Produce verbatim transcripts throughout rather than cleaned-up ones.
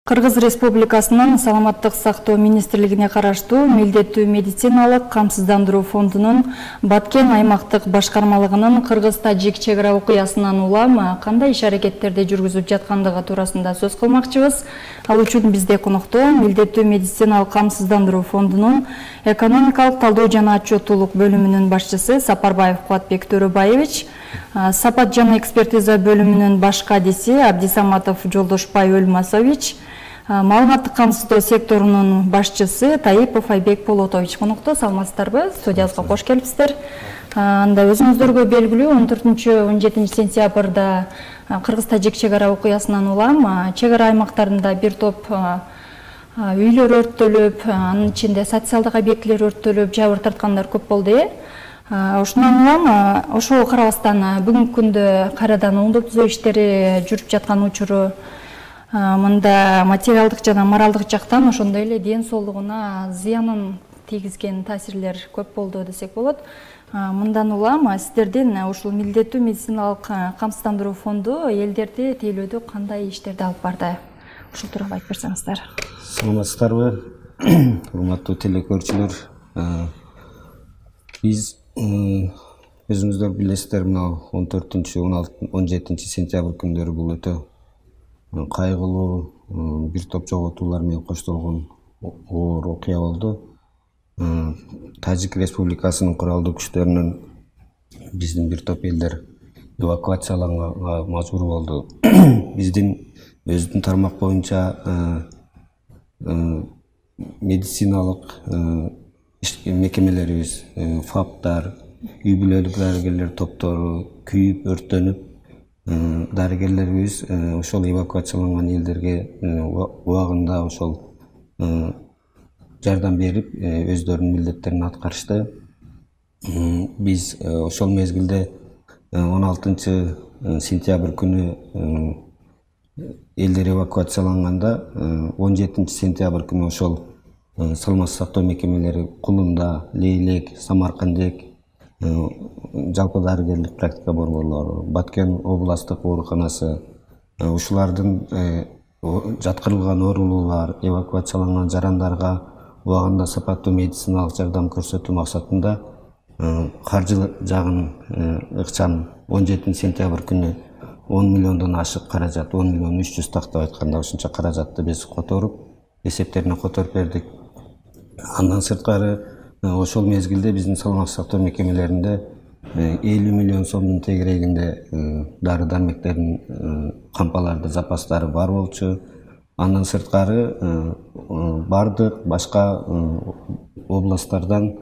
Кыргыз Республикасынын Саламаттык сактоо министрлигине караштуу милдеттүү медициналык камсыздандыруу фондунун Баткен аймактык башкармалыгынын Кыргыз-Тажик чек ара окуясынан улам кандай иш-аракеттерди жүргүзүп жаткандыгы туурасында сөз кылмакчыбыз. Ал үчүн бизде конокто милдеттүү медициналык камсыздандыруу фондунун экономикалык талдоо жана отчеттуулук бөлүмүнүн башчысы Сапарбаев Кубатбек Төрөбаевич, Сапат жана экспертиза бөлүмүнүн баш кадиси Абдисаматов Жолдошбай Өлмасович, маалыматтык камсыздоо секторунун башчысы Таипов Айбек Полотович конокто. Саламатсыздарбы? Студиябызга кош келипсиздер. Анда өзүңүздөргө белгилүү он төртүнчү он жетинчи сентябрда Кыргыз-Тажик чек ара окуясынан улам чек ара аймактарында бир топ үйлөр өрттөлүп, анын ичинде социалдык объектилер өрттөлүп, жабыр тарткандар көп болду. Ошондон улам ошого карабастан бүгүнкү күндө кайрадан оңдоо түзөө иштери жүрүп жаткан учуру мында материалдык жана моралдык жактан ошондой эле ден соолугуна зыянын тийгизген таасирлер көп болду десек болот. Мындан улам сиздердин ушул милдеттүү медициналык камсыздандыруу фонду элдерди тейлөөдө кандай иштерди алып барды? Ушул тууралуу айтып берсеңиздер. Саламатсыздарбы, урматтуу телекөрүүчүлөр. Биз өзүңүздөр билесиздер, мына он төртүнчү он жетинчи сентябрь күндөрү бул өтө кайгылуу бир топ жоготуулар менен коштолгон оор окуя болду. Тажик Республикасынын куралдуу күчтөрүнөн биздин бир топ элдер эвакуацияланганга мажбур болду. Биздин өзүнүн тармак боюнча медициналык мекемелерибиз, фаптар, үй бүлөлүк дарыгерлер топтору күйүп, өрттөнүп, дарыгерлерибиз ошол эвакуацияланган элдерге убагында ошол жардам берип, өздөрүнүн милдеттерин аткарышты. Биз ошол мезгилде он алтынчы сентябрь күнү элдер эвакуацияланганда, он жетинчи сентябрь күнү ошол саламаттык сактоо мекемелери Кулунда, Лейлек, Самаркандек, жалпы дарыгерлик практика борборлору, Баткен областтык ооруканасы, ушулардын жаткырылган оорулуулар, эвакуацияланган жарандарга убагында сапаттуу медициналык жардам көрсөтүү максатында каржы жагын ыкчам он жетинчи сентябрь күнү он миллиондон ашык каражат, он миллион үч жүз тактап айтканда ушунча каражатты биз которуп, эсептерине которуп бердик. Андан сырткары ошол мезгилде биздин саламаттык сактоо мекемелеринде элүү миллион сомдун тегерегинде дары дармектердин кампаларды запастары бар болчу. Андан сырткары бардык башка областтардан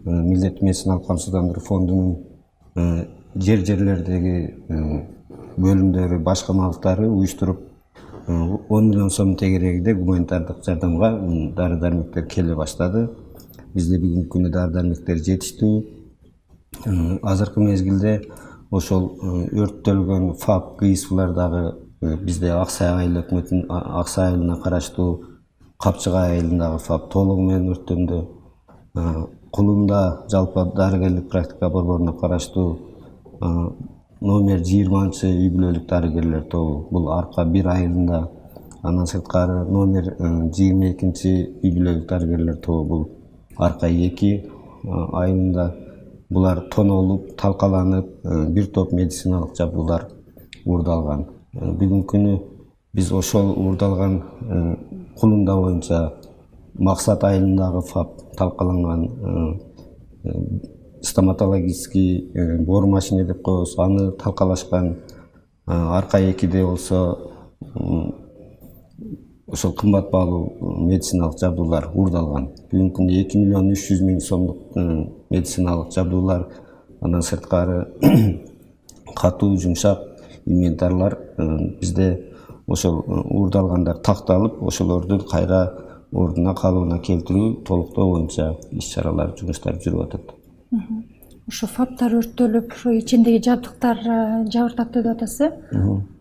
милдеттүү медициналык камсыздандыруу фондунун жер жерлердеги бөлүмдөрү, башкармалыктары уюштуруп он миллион сом тегерегинде гуманитардык жардамга дары дармектер келе баштады. Бизде бүгүнкү күндө дары дармектер жетиштүү. Азыркы мезгилде ошол өрттөлгөн ФАП, ГИСВлар дагы бизде Аксай айыл өкмөтүнүн Аксай айылына караштуу Капчыгай айылындагы ФАП толугу менен өрттөндү. Кулунда жалпы дарыгерлик практика борборуна караштуу номер жыйырманчы үй бүлөлүк дарыгерлер тобу бул Арка бир айылында, андан сырткары номер жыйырма экинчи үй бүлөлүк дарыгерлер тобу бул Арка эки айылында. Булар тонолуп, талкаланып, бир топ медициналык жабдуулар уурдалган. Бүгүнкү күнү биз ошол уурдалган Кулунда боюнча Максат айылындагы ФАП талкаланган стоматологический бор машине деп коебуз, аны талкалашкан. Арка экиде болсо ошол кымбат баалуу медициналык жабдуулар уурдалган. Бүгүнкү күндө эки миллион үч жүз миң сомдук медициналык жабдуулар, андан сырткары катуу, жумшак инвентарлар бизде ошол уурдалгандар такталып, ошолорду кайра ордуна калыбына келтирүү, толуктоо боюнча иш-чаралар, жумуштар жүрүп атат. Ошо фаптар өрттөлүп, ошо ичиндеги жабдыктар жабыр тартты деп атасыз.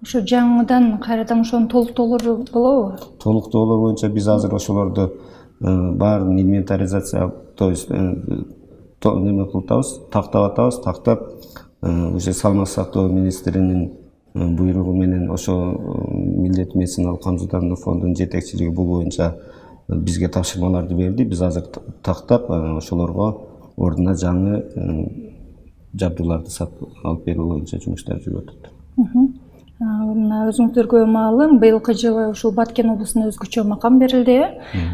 Ошо жаңыдан кайрадан ошонун толуктоолору болобу? Толуктоолор боюнча биз азыр ошолорду баарын инвентаризация, то есть неме кылып атабыз, тактап атабыз, тактап уже саламаттык сактоо министринин буйругу менен ошо Милдеттүү медициналык камсыздандыруу фондунун жетекчилиги бул боюнча бизге тапшырмаларды берди. Биз азыр тактап ошолорго ордуна жаңы жабдууларды сатып алып берүү боюнча жумуштар жүрүп атат. Мына өзүңүздөргө маалым, быйылкы жылы ушул Баткен облусуна өзгөчө макам берилди.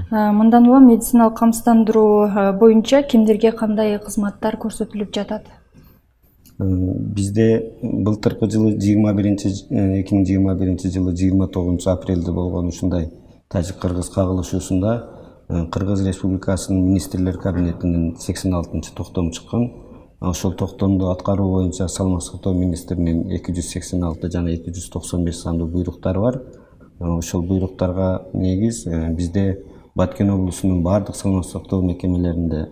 Мындан улам медициналык камсыздандыруу боюнча кимдерге кандай кызматтар көрсөтүлүп жатат? Бизде былтыркы жылы эки миң жыйырма биринчи жылы жыйырма тогузунчу апрелде болгон ушундай тажик-кыргыз кагылышуусунда Кыргыз Республикасынын министрлер кабинетинин сексен алтынчы токтому чыккан. Ошол токтомду аткаруу боюнча саламаттык сактоо министринин эки жүз сексен алты жана эки жүз токсон беш сандуу буйруктары бар. Ошол буйруктарга негиз бизде Баткен облусунун бардык саламаттык сактоо мекемелеринде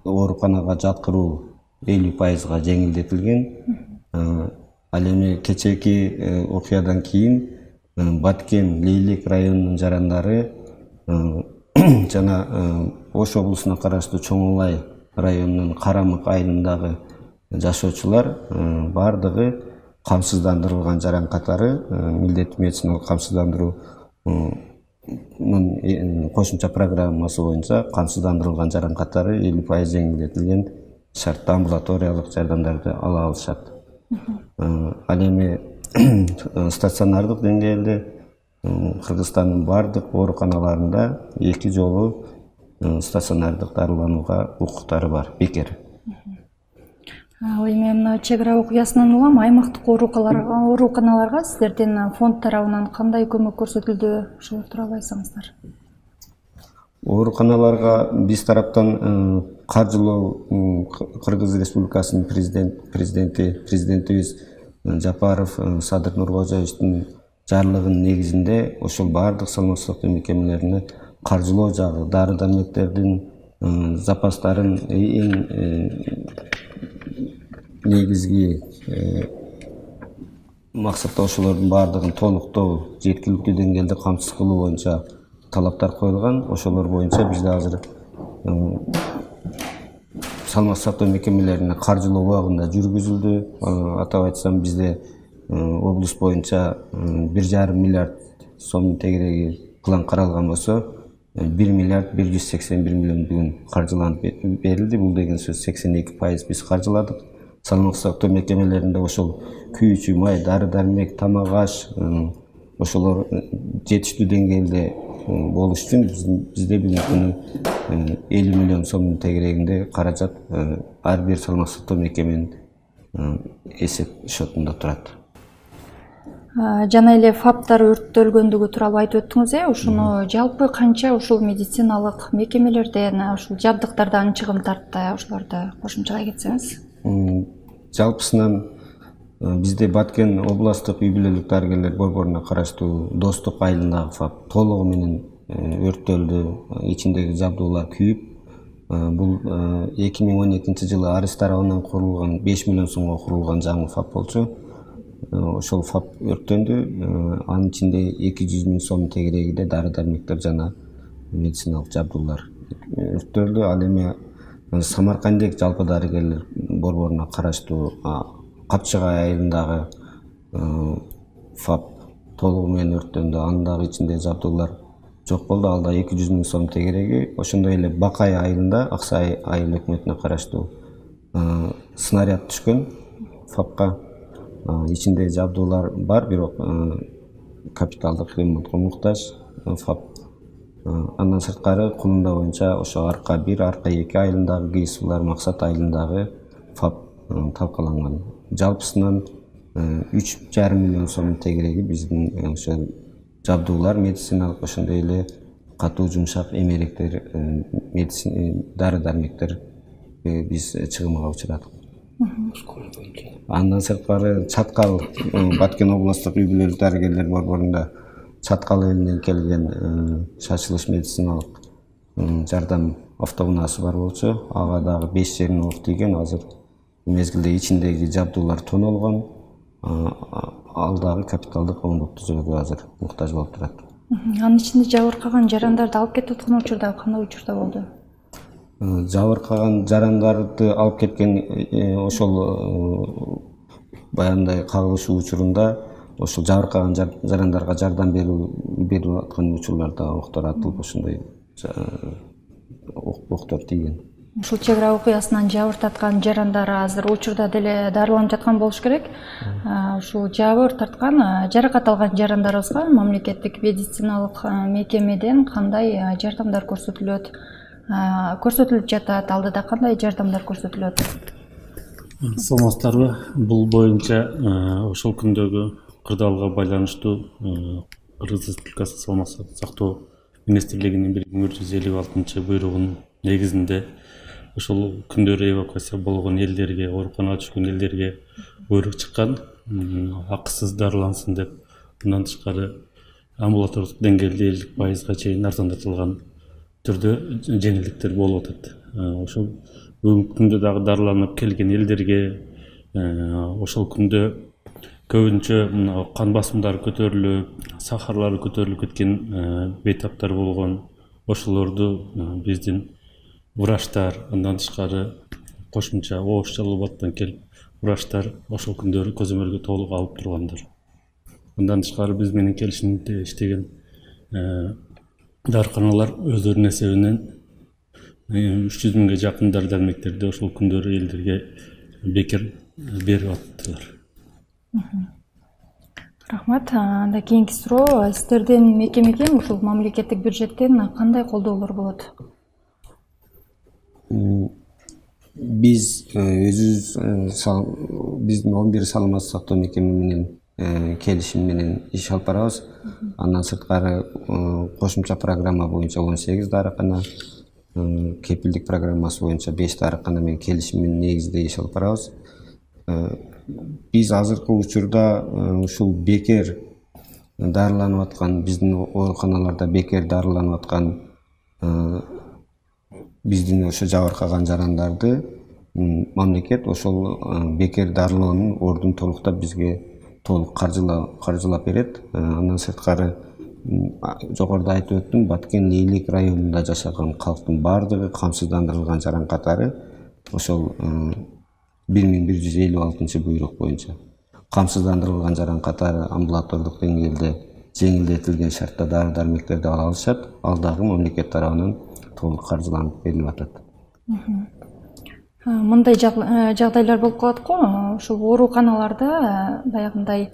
ооруканага жаткыруу элүү пайызга жеңилдетилген. Ал эми кечээки окуядан кийин Баткен, Лейлек районунун жарандары жана Ош облусуна караштуу Чоң Улай районунун Карамык айылындагы жашоочулар бардыгы камсыздандырылган жаран катары милдеттүү медициналык камсыздандыруунун кошумча программасы боюнча камсыздандырылган жаран катары элүү пайыз жеңилдетилген шартта амбулаториялык жардамдарды ала алышат. Ал эми стационардык деңгээлде Кыргызстандын бардык ооруканаларында эки жолу стационардык дарыланууга укуктары бар, бекер. Ал эми мына чек ара окуясынан улам аймактык ооруканаларга сиздердин фонд тарабынан кандай көмөк көрсөтүлдү, ошол тууралуу айтсаңыздар. Ооруканаларга биз тараптан каржылоо Кыргыз Республикасынын президенти президентибиз Жапаров Садыр Нуркожоевичтин жарлыгынын негизинде ошол бардык саламаттык сактоо мекемелерине каржылоо жагы, дары-дармектердин запастарын эң негизги максатта ошолордун бардыгын толуктоо, жеткиликтүү деңгээлде камсыз кылуу боюнча талаптар коюлган. Ошолор боюнча бизде азыр саламаттык сактоо мекемелерине каржылоо убагында жүргүзүлдү. Атап айтсам, бизде облус боюнча бир жарым миллиард сомдун тегереги план каралган болсо, бир миллиард бир жүз сексен бир миллион бүгүн каржыланып берилди. Бул деген сөз сексен эки пайыз биз каржыладык. Саламаттык сактоо мекемелеринде ошол күйүүчү май, дары-дармек, тамак-аш ошолор жетиштүү деңгээлде болуш үчүн бизде бүгүнкү күнү элүү миллион сомдун тегерегинде каражат ар бир саламаттык сактоо мекеменин эсеп шотунда турат. Жана эле фаптар өрттөлгөндүгү тууралуу айтып өттүңүз, э? Ушуну жалпы канча ушул медициналык мекемелерден, ушул жабдыктардан чыгым тартты, ошолорду кошумчалай кетсеңиз. Жалпысынан бизде Баткен областтык үй бүлөлүк дарыгерлер борборуна караштуу Достук айылындагы фап толугу менен өрттөлдү, ичиндеги жабдуулар күйүп. Бул эки миң он экинчи жылы Арыс тарабынан курулган беш миллион сомго курулган жаңы фап болчу. Ошол фап өрттөндү. Анын ичинде эки жүз миң сом тегерегинде дары-дармектер жана медициналык жабдуулар өрттөлдү. Ал эми Самаркандек жалпы дарыгерлер борборуна караштуу Капчыгай айылындагы фап толугу менен өрттөндү. Анын дагы ичинде жабдуулар жок болду. Ал да эки жүз миң сом тегереги. Ошондой эле Бакай айылында, Аксай айыл өкмөтүнө караштуу снаряд түшкөн фапка. Ичинде жабдуулар бар, бирок капиталдык ремонтко муктаж фап. Андан сырткары Кулунда боюнча ошо Арка бир, Арка эки айылындагы Гейсулар, Максат айылындагы фап талкаланган. Жалпысынан үч жарым миллион сом тегереги биздин ошо жабдуулар, медициналык, ошондой эле катуу жумшак эмеректер, медицина дары-дармектер биз чыгымга учурадык. Андан сырткары Чаткал Баткен областтык үй бүлөлүк дарыгерлер борборунда Чаткал элинен келген шашылыш медициналык жардам автоунаасы бар болчу. Ага дагы беш жерине оқ тийген. Азыр мезгилде ичиндеги жабдуулар тонолгон. Ал дагы капиталдык ремонт түзүүгө азыр муктаж болуп турат. Анын ичинде жабыркаган жарандарды алып кетип аткан учурда кандай учурда болду? Жабыркаган жарандарды алып кеткен ошол баягындай кагылышуу учурунда ошол жабыркаган жарандарга жардам берүү берип аткан учурларда октор атылып ошондой октор тийген. Ушул чек ара окуясынан жабыр тарткан жарандар азыр учурда деле дарыланып жаткан болуш керек. Ушул жабыр тарткан, жаракат алган жарандарыбызга мамлекеттик медициналык мекемеден кандай жардамдар көрсөтүлөт? Көрсөтүлүп жатат, алдыда кандай жардамдар көрсөтүлөт? Саламатсыздарбы? Бул боюнча ошол күндөгү кырдаалга байланыштуу Кыргыз Республикасы Саламаттык сактоо министрлигинин бир миң жүз элүү алтынчы буйругунун негизинде ошол күндөр эвакуация болгон элдерге, ооруканага түшкөн элдерге буйрук чыккан, акысыз дарылансын деп. Мындан тышкары амбулатордук деңгээлде элүү пайызга чейин арзандатылган түрдө жеңилдиктер болуп атат. Ошол бүгүнкү күндө дагы дарыланып келген элдерге ошол күндө көбүнчө кан басымдары көтөрүлүп, сахарлары көтөрүлүп кеткен бейтаптар болгон. Ошолорду биздин врачтар, андан тышкары кошумча оош жалалбаттан келип врачтар ошол күндөрү көзөмөлгө толук алып тургандар. Андан тышкары биз менен келишимде иштеген дарыканалар өздөрүнүн эсебинен үч жүз миңге жакын дары дармектерди ошол күндөрү элдерге бекер берип аттылар. Рахмат. Анда кийинки суроо, сиздердин мекемеге ушул мамлекеттик бюджеттен кандай колдоолор болот? Биз өзүбүз биздин он бир саламаттык сактоо мекеме менен келишим менен иш алып барабыз. Андан сырткары кошумча программа боюнча он сегиз дарыкана, кепилдик программасы боюнча беш дарыкана менен келишимдин негизинде иш алып барабыз. Биз азыркы учурда ушул бекер дарыланып аткан, биздин ооруканаларда бекер дарыланып аткан биздин ошо жабыркаган жарандарды мамлекет ошол бекер дарылоонун ордун толуктап бизге толук каржылап берет. Андан сырткары жогоруда айтып өттүм, Баткен Эйлик районунда жашаган калктын баардыгы камсыздандырылган жаран катары ошол бир миң бир жүз элүү алтынчы буйрук боюнча камсыздандырылган жаран катары амбулатордук деңгээлде жеңилдетилген шартта дары дармектерди ала алышат. Ал дагы мамлекет тарабынан толук каржыланып берилип атат. Мындай жагдайлар болуп калат го, ушул ооруканаларда баягындай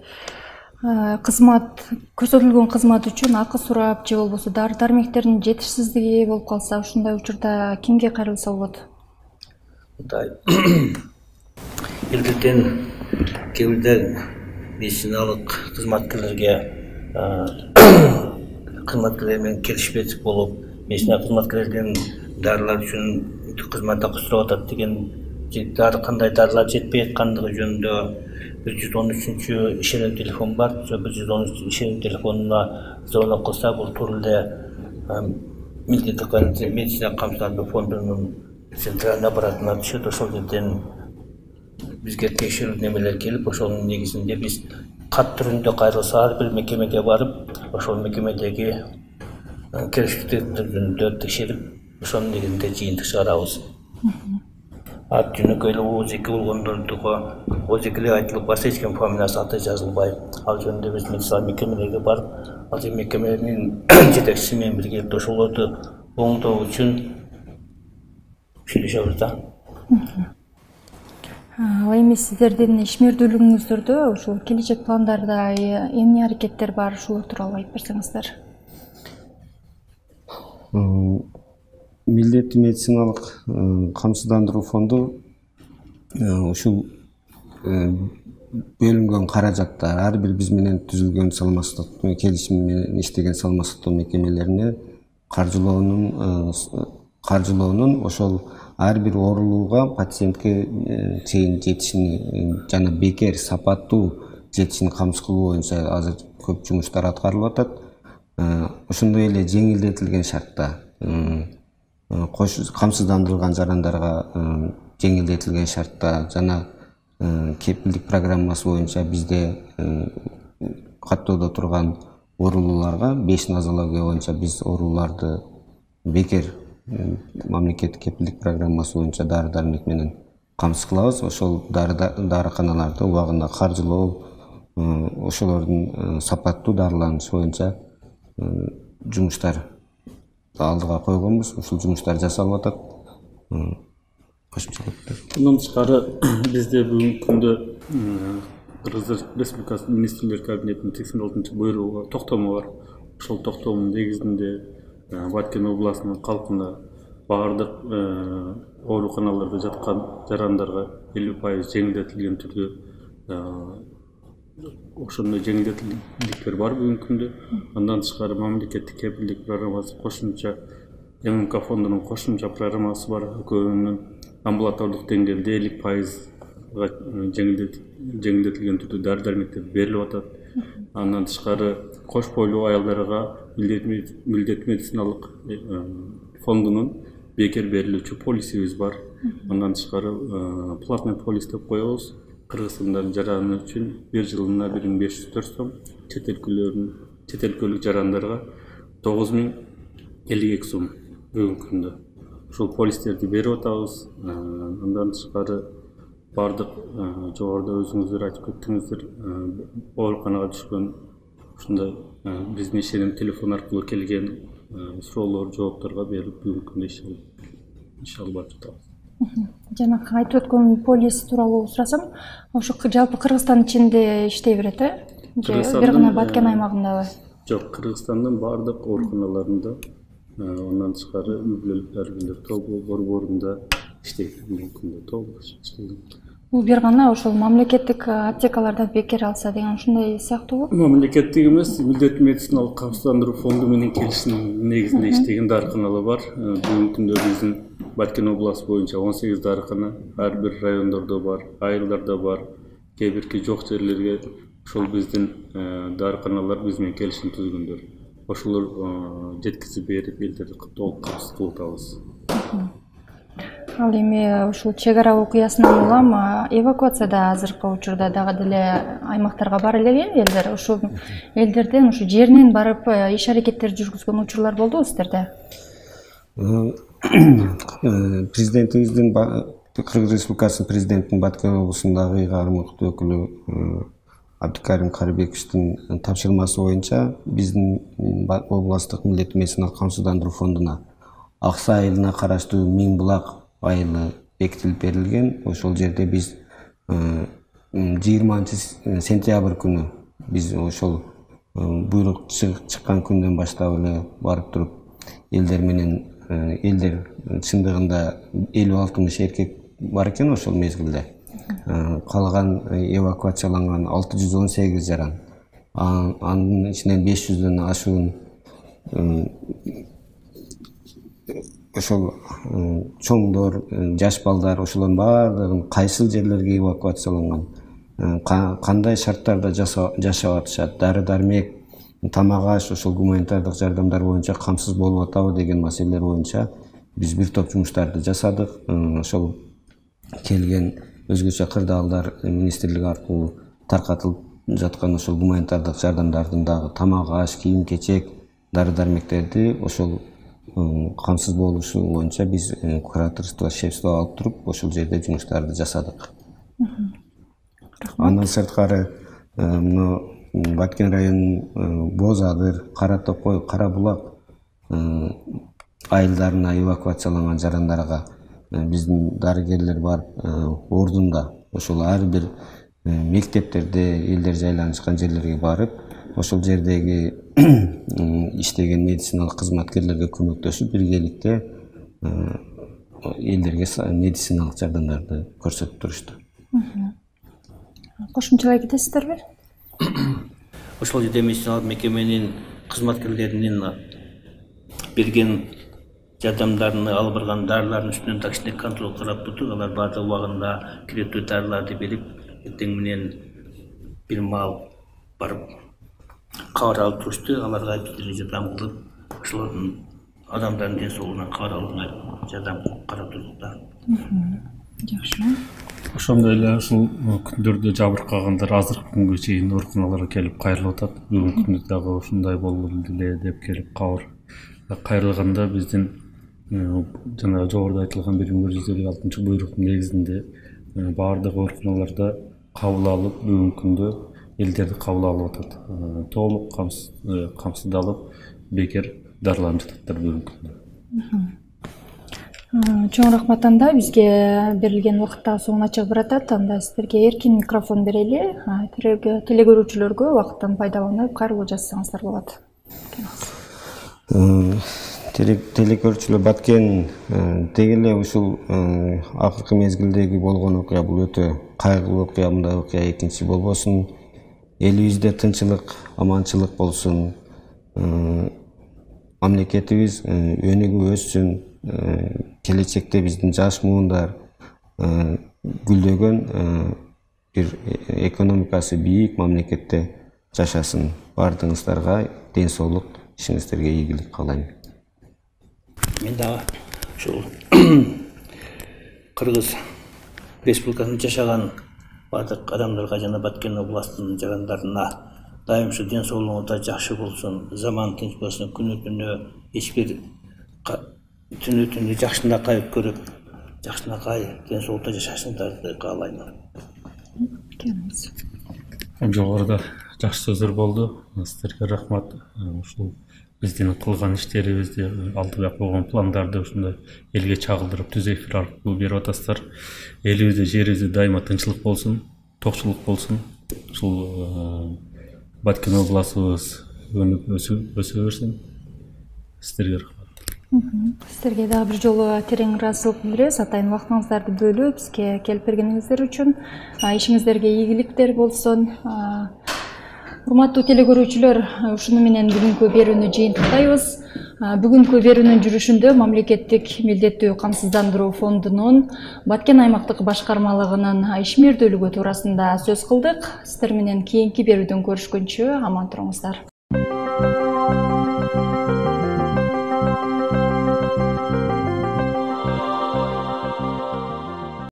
кызмат, көрсөтүлгөн кызмат үчүн акы сурап же болбосо дары дармектердин жетишсиздиги болуп калса, ушундай учурда кимге кайрылса болот? Элбеттен кээ бирде медициналык кызматкерлерге кызматкерлер менен келишпестик болуп, медицина кызматкерлерден дарылар үчүн кызмат акы сурап атат деген, дары кандай дарылар жетпей аткандыгы жөнүндө бир жүз он үчүнчү ишенүү телефон бар. бир жүз он үч ишенүү телефонуна звонок кылса, бул туура эле милдеттүү медицина камсыздандыруу фондунун центральный аппаратына түшөт. Ошол жерден бизге текшерүү немелер келип, ошонун негизинде биз кат түрүндө кайрылса ар бир мекемеге барып, ошол мекемедеги керектүүлүктөр жөнүндө текшерип, ошонун негизинде жыйынтык чыгарабыз. Ат жөнөкөй эле о эки болгондордуга о экиге айтылып барса, эч ким фамилиясы аты жазылбай, ал жөнүндө биз медицина мекемелерге барып, ал мекеменин жетекчиси менен биргеликте ошолорду оңдоо үчүн сүйлөшөбүз да. Ал эми сиздердин ишмердүүлүгүңүздөрдө ушул келечек пландарда эмне аракеттер бар, ушулар тууралуу айтып берсеңиздер. Милдеттүү медициналык камсыздандыруу фонду ушул бөлүнгөн каражаттар ар бир биз менен түзүлгөн саламаттык келишим менен иштеген саламаттык мекемелерине каржылоонун каржылоонун ошол ар бир оорулууга пациентке чейин жетишини жана бекер сапаттуу жетишин камсыз кылуу боюнча азыр көп жумуштар аткарылып атат. Ошондой эле жеңилдетилген шартта камсыздандырылган жарандарга жеңилдетилген шартта жана кепилдик программасы боюнча бизде каттоодо турган оорулууларга беш нозология боюнча биз ооруларды бекер мамлекеттик кепилдик программасы боюнча дары дармек менен камсыз кылабыз. Ошол дарыканаларды убагында каржылоо, ошолордун сапаттуу дарыланышы боюнча жумуштар алдыга койгонбуз. Ушул жумуштар жасалып атат. Мындан тышкары бизде бүгүнкү күндө Кыргыз Республикасы Министрлер Кабинетинин сексен алтынчы буйругу токтому бар. Ошол токтомдун негизинде Баткен областынын калкына баардык ооруканаларда жаткан жарандарга элүү пайыз жеңилдетилген түрдө ошондой жеңилдетиликтер бар бүгүнкү күндө. Андан тышкары мамлекеттик кепилдик программасы кошумча эм эм ка фондунун кошумча программасы бар. Экөөнүн амбулатордук деңгээлде элүү пайызга жеңилдетилген түрдө дары дармектер берилип атат. Андан тышкары кош бойлуу аялдарга милдет медициналык фондунун бекер берилүүчү полисибиз бар. Андан тышкары платный полис деп коебуз. Кыргызстандын жараны үчүн бир жылына бир миң беш жүз төрт сом, чет өлкөлөрдүн чет өлкөлүк жарандарга тогуз миң элүү эки сом бүгүнкү күндө. Ушул полистерди берип атабыз. Андан тышкары бардык жогоруда өзүңүздөр айтып кеттиңиздер, ооруканага түшкөн ушундай биздин ишеним телефон аркылуу келген суроолор, жоопторго берилип бүгүнкү күндө иш алып иш алып барып жатабыз. Жана айтып өткөн полис тууралуу сурасам, ошо жалпы Кыргызстан ичинде иштей берет, э? Же бир гана Баткен аймагындабы? Жок, Кыргызстандын бардык ооруканаларында, андан тышкары үй-бүлөлүк дарыгерлер тобу борборунда иштейт бүгүнкү күндө толук иштейт. Бул бир гана ошол мамлекеттик аптекаларда бекер алса деген ушундай сыяктуубу? Мамлекеттик эмес, милдеттүү медициналык камсыздандыруу фонду менен келишим негизинде иштеген дарыканалар бар. Бүгүнкү күндө биздин Баткен областы боюнча он сегиз дарыкана ар бир райондордо бар, айылдарда бар, кээ бирки жок жерлерге ошол биздин дарыканалар биз менен келишим түзгөндөр. Ошолор жеткизип берип, элдерди толук камсыз кылып атабыз. Ал эми ушул чек ара окуясынан улам эвакуацияда азыркы учурда дагы деле аймактарга бара элек элдер. Ушул элдерден ушу жеринен барып иш аракеттерди жүргүзгөн учурлар болдубу сиздерде? Президентибиздин Кыргыз Республикасынын президентинин Баткен облусундагы кармыктуу өкүлү Абдыкарим Карыбековичтин тапшырмасы боюнча биздин областтык милдеттүү медициналык камсыздандыруу фондуна Аксы айылына караштуу Миң Булак айылы бекитилип берилген. Ошол жерде биз жыйырманчы сентябрь күнү биз ошол буйрук чыккан күндөн баштап эле барып туруп элдер менен элдер чындыгында элүү алтымыш эркек бар экен ошол мезгилде. Калган эвакуацияланган алты жүз он сегиз жаран. Анын ичинен беш жүздөн ашуун ошол чоңдор, жаш балдар, ошолордун баардыгын кайсыл жерлерге эвакуацияланган, кандай шарттарда жашап атышат, дары дармек, тамак аш, ошол гуманитардык жардамдар боюнча камсыз болуп атабы деген маселелер боюнча биз бир топ жумуштарды жасадык. Ошол келген өзгөчө кырдаалдар министрлиги аркылуу таркатылып жаткан ошол гуманитардык жардамдардын дагы тамак аш, кийим кечек, дары дармектерди ошол камсыз болушу боюнча биз кураторство, шефство алып туруп ошол жерде жумуштарды жасадык. Андан сырткары мына Баткен районунун Боз Адыр, Кара Токой, Кара Булак айылдарына эвакуацияланган жарандарга биздин дарыгерлер бар ордунда ошол ар бир мектептерде элдер жайланышкан жерлерге барып ошол жердеги иштеген медициналык кызматкерлерге көмөктөшүп биргеликте элдерге медициналык жардамдарды көрсөтүп турушту. Кошумчалай кетесиздерби? Ошол жерде медициналык мекеменин кызматкерлеринин берген жардамдарын алып барган дарылардын үстүнөн так контроль карап турдук. Алар баардык убагында керектүү дарыларды берип, эртең менен бир маал барып кабар алып турушту. Аларга жардам кылып, ошолордун адамдардын ден соолугуна кабар алууна жардам карап турдук да. Жакшы. Ошондой эле ушул күндөрдө жабыркагандар азыркы күнгө чейин ооруканаларга келип кайрылып атат. Бүгүнкү күндө дагы ушундай болду эле деп келип кабар кайрылганда биздин жана жогоруда айтылган бир миң бир жүз элүү алтынчы буйруктун негизинде баардык ооруканаларда кабыл алып бүгүнкү күндө элдерди кабыл алып атат. Толук камсыздалып бекер дарыланып жататтар бүгүнкү күндө. Чоң рахмат. Анда бизге берилген убакытта соңуна чыгып баратат. Анда сиздерге эркин микрофон берели. Телегөрүүчүлөргө убакыттан пайдаланып кайрылуу жасасаңыздар болот. Телекөрүүчүлөр, Баткен деги эле ушул акыркы мезгилдеги болгон окуя бул өтө кайгылуу окуя. Мындай окуя экинчи болбосун. Элибизде тынчылык, аманчылык болсун. Мамлекетибиз өнүгүп өссүн. Келечекте биздин жаш муундар гүлдөгөн бир экономикасы бийик мамлекетте жашасын. Бардыгыңыздарга ден соолук, ишиңиздерге ийгилик каалайм. Мен дагы ушул Кыргыз Республикасында жашаган бардык адамдарга жана Баткен областынын жарандарына дайым ушу ден соолугуңуздар жакшы болсун, заман тынч болсун, күнү түнү эч бир түнү түнү жакшынакай көрүп, жакшынакай ден соолукта жашашыңыздарды каалайм. Жогоруда жакшы сөздөр болду. Сиздерге рахмат. Ушул биздин кылган иштерибизди, алдыда койгон пландарды ушундай элге чагылдырып түз эфир аркылуу берип атасыздар. Элибизде, жерибизде дайыма тынчылык болсун, токчулук болсун. Ушул Баткен областыбыз өнүп өсө берсин. Сиздерге рахмат. Сиздерге дагы бир жолу терең ыраазычылык билдиребиз. Атайын убактыңыздарды бөлүп бизге келип бергениңиздер үчүн. Ишиңиздерге ийгиликтер болсун. Урматтуу телекөрүүчүлөр, ушуну менен бүгүнкү берүүнү жыйынтыктайбыз. Бүгүнкү берүүнүн жүрүшүндө мамлекеттик милдеттүү камсыздандыруу фондунун Баткен аймактык башкармалыгынын ишмердүүлүгү туурасында сөз кылдык. Сиздер менен кийинки берүүдөн көрүшкөнчө аман туруңуздар.